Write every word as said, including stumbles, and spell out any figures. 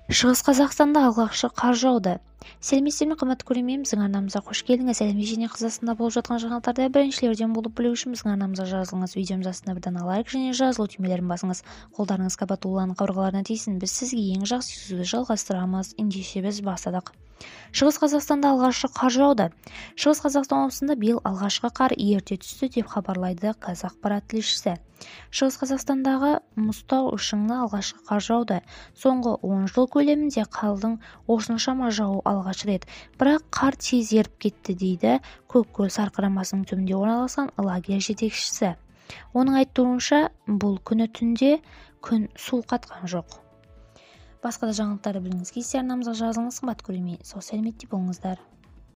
Шығыс Қазақстанда алғашқы қар жауды. Сәлеметсіздер ме, қымбатты көрермен, біздің арнамызға қош келдіңіз. Әлемде және Қазақстанда болып жатқан жаңалықтарды біріншілерден болып білу үшін біздің арнамызға жазылыңыз. Видеомыз астына бір дана лайк және жазылу түймелерін басыңыз. Қолдарыңыз қабат уланып қабырғаларына тисін. Біз сізге ең жақсы сөзді жалғастырамыз. Ендеше біз бастадық. Шығыс Қазақстанда алғашқы қар жауды. Шығыс Қазақстан облысында биыл алғашқы қар ерте түсті деп хабарлайды Қазақпарат тілшісі. Шығыс Қазақстандағы Мұзтау шыңына алғашқы қар жауды. Соңғы он жыл көлемінде қардың осыншама жауы алғаш рет. Бірақ қар тез еріп кетті дейді Көккөл сарқырамасының түбінде орналасқан лагерь жетекшісі. Оның айтуынша, бұл күні түнде күн суық қатқан жоқ. Басқа да жаңалықтарды білгіңіз келсе арнамызға жазылыңыз, қымбатты көрермен. Сау сәлеметте болыңыздар.